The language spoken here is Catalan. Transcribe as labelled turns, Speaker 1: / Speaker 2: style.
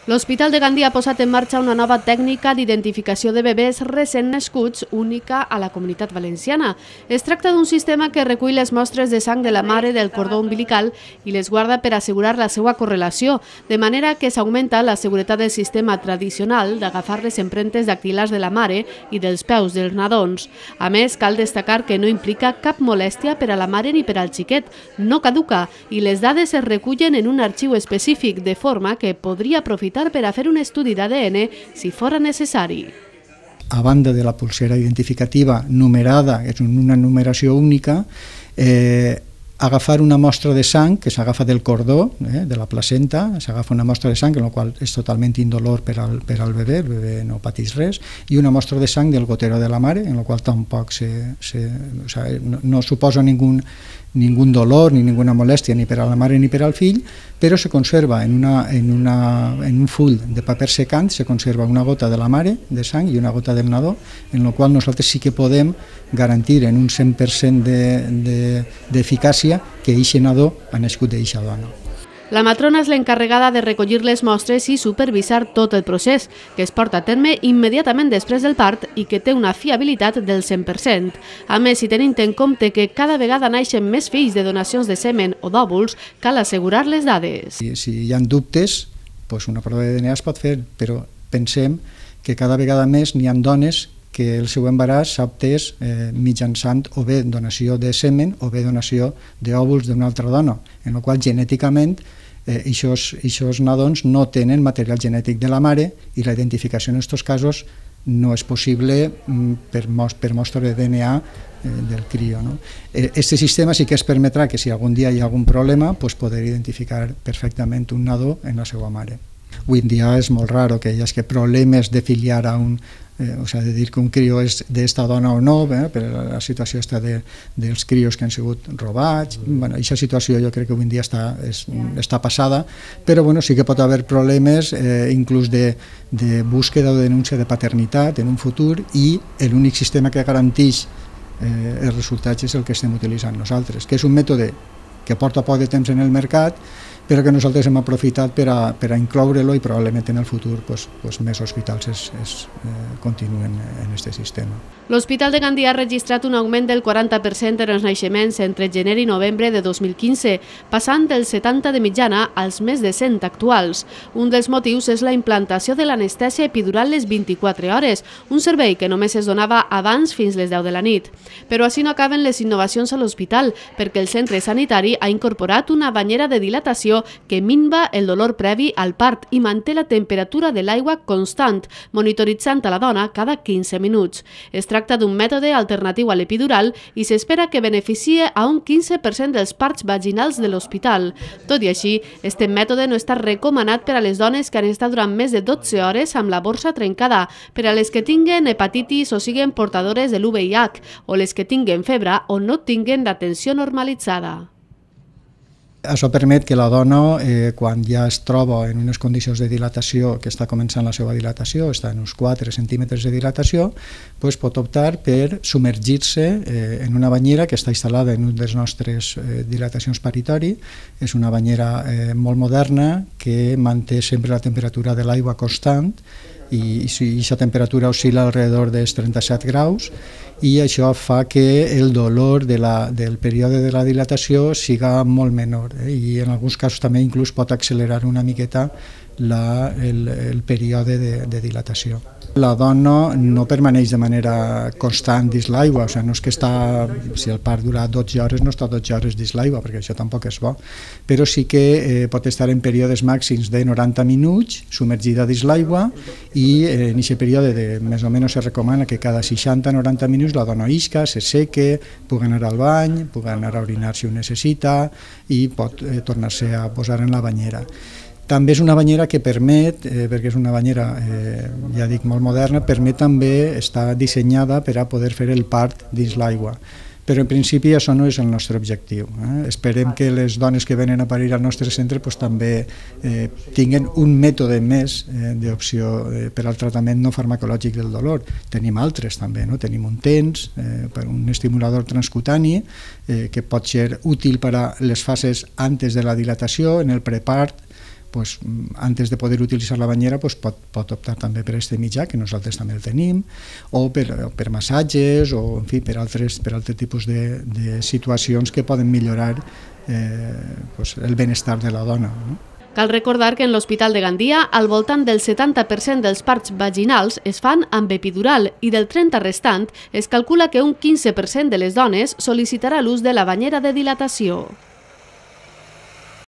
Speaker 1: L'Hospital de Gandia ha posat en marxa una nova tècnica d'identificació de bebès recent nascuts única a la Comunitat Valenciana. Es tracta d'un sistema que recull les mostres de sang de la mare del cordó umbilical i les guarda per assegurar la seva correlació, de manera que s'augmenta la seguretat del sistema tradicional d'agafar les empremtes dactilars de la mare i dels peus dels nadons. A més, cal destacar que no implica cap molèstia per a la mare ni per al xiquet, no caduca i les dades es recullen en un arxiu específic, de forma que podria aprofitar per a fer un estudi d'ADN si fora necessari.
Speaker 2: A banda de la pulsera identificativa numerada, és una numeració única, agafar una mostra de sang que s'agafa del cordó, de la placenta, s'agafa una mostra de sang, en la qual és totalment indolor per al bebè, el bebè no pateix res, i una mostra de sang del gotero de la mare, en la qual tampoc no suposa ningún dolor ni ninguna molèstia ni per a la mare ni per al fill, però se conserva en un full de paper secant, se conserva una gota de la mare de sang i una gota del nadó, en la qual nosaltres sí que podem garantir en un 100% d'eficàcia que eixe nadó ha nascut d'eixa dona.
Speaker 1: La matrona és l'encarregada de recollir les mostres i supervisar tot el procés, que es porta a terme immediatament després del part i que té una fiabilitat del 100%. A més, si tenint en compte que cada vegada naixen més fills de donacions de semen o d'òvuls, cal assegurar les dades.
Speaker 2: Si hi ha dubtes, una prova de DNA es pot fer, però pensem que cada vegada més n'hi ha dones que el seu embaràs s'ha obtès mitjançant o bé donació de semen o bé donació d'òvuls d'una altra dona, en la qual genèticament aquests nadons no tenen material genètic de la mare i la identificació en aquests casos no és possible per mostra de DNA del crio. Aquest sistema sí que es permetrà que si algun dia hi ha algun problema poder identificar perfectament un nadó en la seva mare. Avui en dia és molt raro que hi hagi problemes de filiar a un, de dir que un crio és d'esta dona o no, per la situació dels crios que han sigut robats. Aquesta situació jo crec que avui en dia està passada, però sí que pot haver problemes inclús de búsqueda o denúncia de paternitat en un futur i l'únic sistema que garanteix els resultats és el que estem utilitzant nosaltres, que és un mètode que porta poc de temps en el mercat, però que nosaltres hem aprofitat per a incloure-lo i probablement en el futur més hospitals continuen en aquest sistema.
Speaker 1: L'Hospital de Gandia ha registrat un augment del 40% en els naixements entre gener i novembre de 2015, passant dels 70 de mitjana als més de 100 actuals. Un dels motius és la implantació de l'anestèsia epidural les 24 hores, un servei que només es donava abans fins les 10 de la nit. Però així no acaben les innovacions a l'hospital, perquè el centre sanitari ha incorporat una banyera de dilatació que minva el dolor previ al part i manté la temperatura de l'aigua constant, monitoritzant a la dona cada 15 minuts. Es tracta d'un mètode alternatiu a l'epidural i s'espera que beneficie a un 15% dels parts vaginals de l'hospital. Tot i així, este mètode no està recomanat per a les dones que han estat durant més de 12 hores amb la borsa trencada, per a les que tinguen hepatitis o siguen portadores de l'UVIH, o les que tinguen febre o no tinguen la tensió normalitzada.
Speaker 2: Això permet que la dona, quan ja es troba en unes condicions de dilatació, que està començant la seva dilatació, està en uns 4 centímetres de dilatació, pot optar per submergir-se en una banyera que està instal·lada en una de les nostres dilatacions paritori. És una banyera molt moderna que manté sempre la temperatura de l'aigua constant i aquesta temperatura oscil·la alrededor dels 37 graus i això fa que el dolor del període de la dilatació siga molt menor i en alguns casos també inclús pot accelerar una miqueta el període de dilatació. La dona no permaneix de manera constant dins l'aigua, no és que si el part dura 12 hores no està 12 hores dins l'aigua, perquè això tampoc és bo, però sí que pot estar en períodes màxims de 90 minuts submergida dins l'aigua i en aquest període més o menys se recomana que cada 60-90 minuts la dona isca, se seque, pugui anar al bany, pugui anar a orinar si ho necessita i pot tornar-se a posar en la banyera. També és una banyera que permet, perquè és una banyera, ja dic, molt moderna, permet també estar dissenyada per a poder fer el part dins l'aigua. Però en principi això no és el nostre objectiu. Esperem que les dones que venen a parir al nostre centre també tinguin un mètode més d'opció per al tractament no farmacològic del dolor. Tenim altres també, tenim un TENS, un estimulador transcutani que pot ser útil per a les fases antes de la dilatació, en el prepart, pues, antes de poder utilitzar la banyera pues, pot optar també per aquest mitjà, que nosaltres també el tenim, o per massatges, o en fi, per altres tipus de situacions que poden millorar pues, el benestar de la dona, no?
Speaker 1: Cal recordar que en l'Hospital de Gandia al voltant del 70% dels parts vaginals es fan amb epidural i del 30% restant es calcula que un 15% de les dones sol·licitarà l'ús de la banyera de dilatació.